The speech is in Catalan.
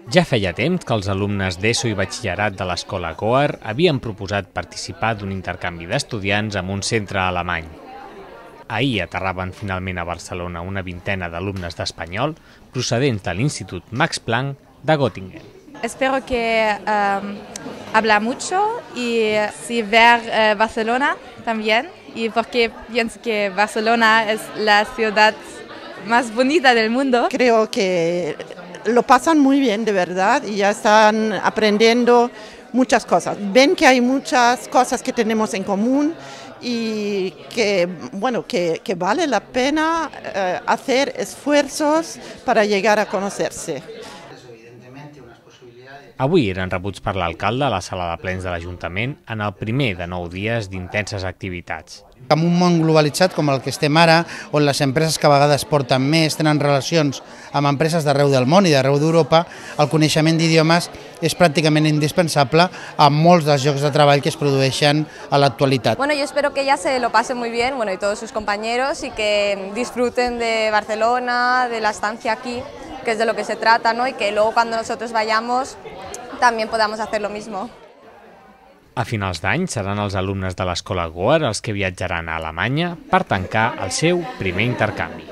Ja feia temps que els alumnes d'ESO i batxillerat de l'escola Goar havien proposat participar d'un intercanvi d'estudiants amb un centre alemany. Ahir aterraven finalment a Barcelona una vintena d'alumnes d'espanyol procedents de l'Institut Max Planck de Göttingen. Espero que habla mucho y sí ver Barcelona también, y porque pienso que Barcelona es la ciudad más bonita del mundo. Creo que lo pasan muy bien, de verdad, y ya están aprendiendo muchas cosas. Ven que hay muchas cosas que tenemos en común y que vale la pena hacer esfuerzos para llegar a conocerse. Avui eren rebuts per l'alcalde a la sala de plens de l'Ajuntament en el primer de 9 dies d'intenses activitats. En un món globalitzat com el que estem ara, on les empreses que a vegades porten més tenen relacions amb empreses d'arreu del món i d'arreu d'Europa, el coneixement d'idiomes és pràcticament indispensable a molts dels llocs de treball que es produeixen a l'actualitat. Bueno, yo espero que ella se lo pase muy bien, y todos sus compañeros, y que disfruten de Barcelona, de la estancia aquí, que es de lo que se trata, ¿no? Y que luego cuando nosotros vayamos también podamos hacer lo mismo. A finals d'any seran els alumnes de l'escola Goar els que viatjaran a Alemanya per tancar el seu primer intercanvi.